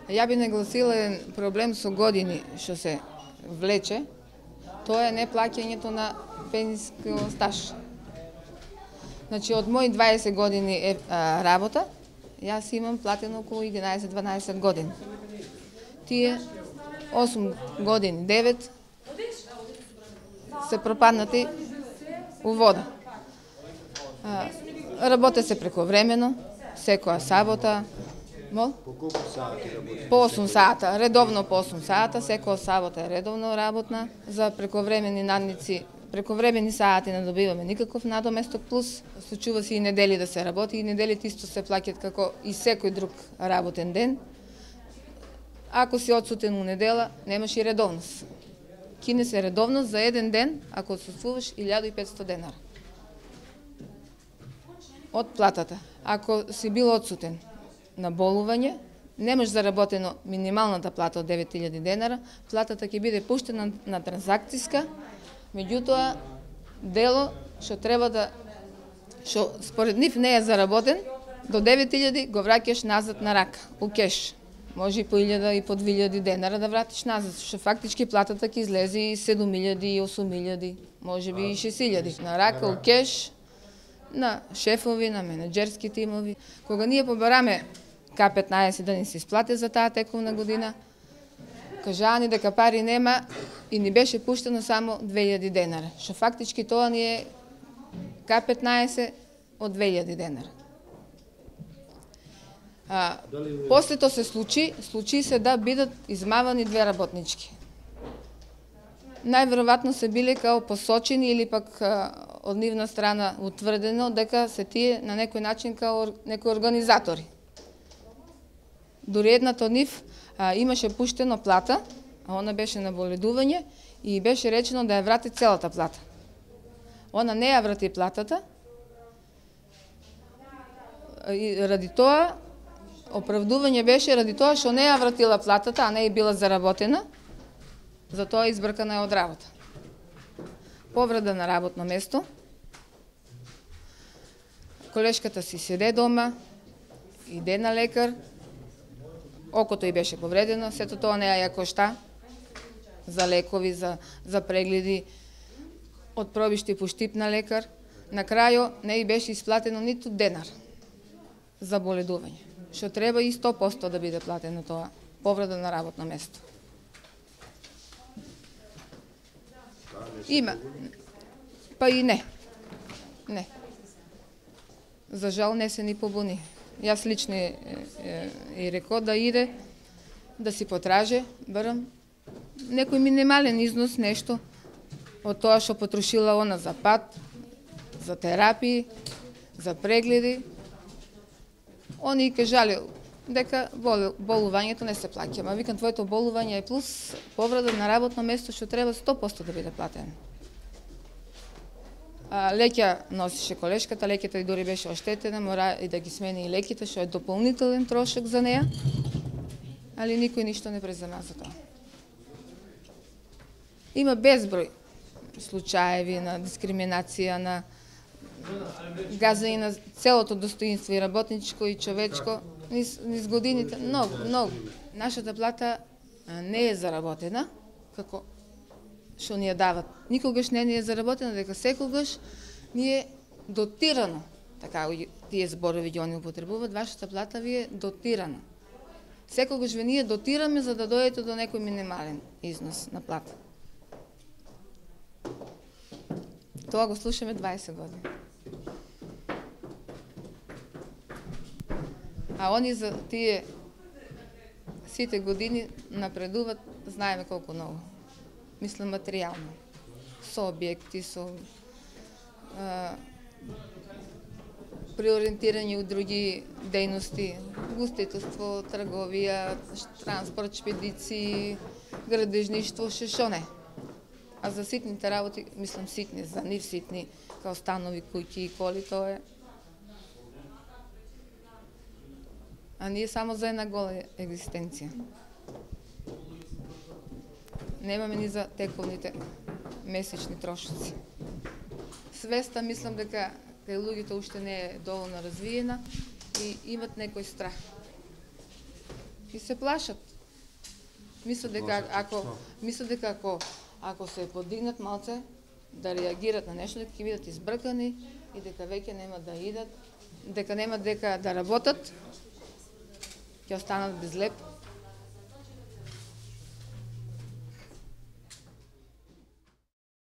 Ја би нагласила еден проблем со години што се влече, тоа е неплаќањето на пензиски стаж. Значи, од мои 20 години работа, јас имам платено околу 11-12 години. Тие 8 години, 9 се пропаднати у вода. Работе се прековремено, секоја сабота. По колку сати работи? По 8 сата, редовно по 8 сата, секоја сабота е редовно работна. За прековремени надници, прековремени сати не добиваме никаков надоместок, плюс случува се и недели да се работи, и неделите исто се плаќаат како и секој друг работен ден. Ако си отсутен у недела, немаш и редовност. Кине се редовност за еден ден, ако отсутствуваш 1500 денара. Од платата. Ако си бил отсутен на болување, немаш заработено минималната плата од 9000 денара, платата ќе биде пуштена на транзакциска, меѓутоа дело што треба да, што според нив не е заработен, до 9000 го враќаш назад на рака, у кеш. Може и по 1000 и по 2000 денара да вратиш назад, што фактички платата ќе излезе и 7000 и 8000, може би и 6000 на рака, у кеш, на шефови, на менеджерски тимови. Кога ние побараме К15 да ни се исплате за таа тековна година, кажаа ни дека пари нема и ни беше пуштено само 2000 денара, што фактички тоа ни е К15 од 2000 денара. После тоа се случи се да бидат измавани две работнички. Најверојатно се биле као посочени или пак од нивна страна утврдено дека се тие на некој начин као некои организатори. Дури едната од нив имаше пуштено плата, а она беше на боледување и беше речено да ја врати целата плата. Она не ја врати платата и ради тоа оправдување беше ради тоа што не ја вратила платата, а не е била заработена, затоа избркана е од работа. Повреда на работно место. Колешката си седе дома, иде на лекар, окото ѝ беше повредено, сето тоа не ја кошта за лекови, за прегледи, од пробишти по штип на лекар. На крајо не ѝ беше исплатено ниту денар за боледување, што треба и 100% да биде платено тоа, повреда на работно место. Има, па и не. Не. За жал не се ни побуни. Јас лично и рекол да иде, да си потражи, барам некој минимален износ, нешто од тоа што потрошила она за пат, за терапии, за прегледи. Они кажале дека болувањето не се плаќа, ма викам твоето болување е плюс повреда на работно место што треба 100% да биде платено. Леќа носише колешката, леќата и дури беше оштетена, мора и да ги смени и леќите, што е дополнителен трошок за неа, али никој ништо не презема за тоа. Има безброј случаеви на дискриминација, на газење на целото достоинство и работничко и човечко, низ годините, многу. Нашата плата не е заработена, како што ни ја дават. Никогаш не ни е заработена, дека секогаш ни е дотирано. Така, тие зборови ги они употребуваат, вашата плата ви е дотирана. Секогаш ви ние дотираме за да дојдете до некој минимален износ на плата. Тоа го слушаме 20 години. А они за тие сите години напредуват, знаеме колку многу. Мислам материјално. Со објекти, со преориентирање у други дејности, гостителство, трговија, транспорт, шпедици, градежништво, шо не. А за ситните работи, мислам ситни, за нив ситни, као станови, куќи и коли, тоа е. А ние само за една гола екзистенција. Немаме ни за тековните месечни трошоци. Свеста мислам дека кај луѓето уште не е доволно развиена и имат некој страх. и се плашат. Мислат дека ако се подигнат малце да реагират на нешто, дека ќе бидат избркани и дека веќе нема да идат, дека нема дека да работат, ќе останат без леп.